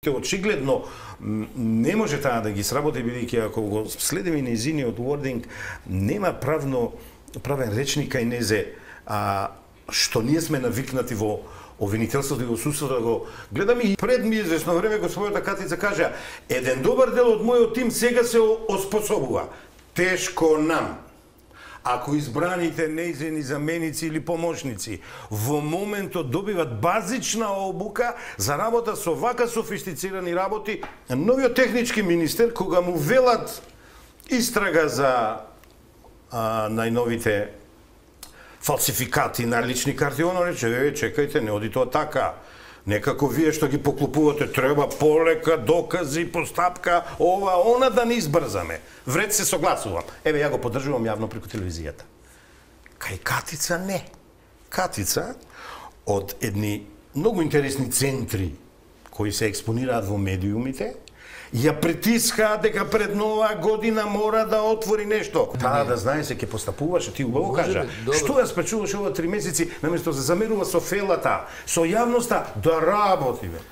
те очигледно не може таа да ги сработи, бидејќи ако го следиме нејзиниот wording, нема правен речник кај незе, што ние сме навикнати во обвинителството и во судството да го гледаме. И пред ми известно време господата Катица кажа: еден добар дел од мојот тим сега се оспособува. Тешко нам. Ако избраните нејзини заменици или помошници во моментот добиват базична обука за работа со вака софистицирани работи, новиот технички министер кога му велат истрага за најновите фалсификати на лични карти, оно рече: чекајте, не оди тоа така. Некако вие што ги поклупувате, треба полека, докази, постапка, она да не избрзаме. Вред се согласувам. Еве, ја го поддржувам јавно преку телевизијата. Кај Катица не. Катица од едни многу интересни центри кои се експонираат во медиумите, ја притискаат дека пред нова година мора да отвори нешто. Таа да знае се ќе постапуваше, ти убаво кажа. Што ја спречуваше ова 3 месеци, наместо да замерува со фелата, со јавноста, да работи, бе.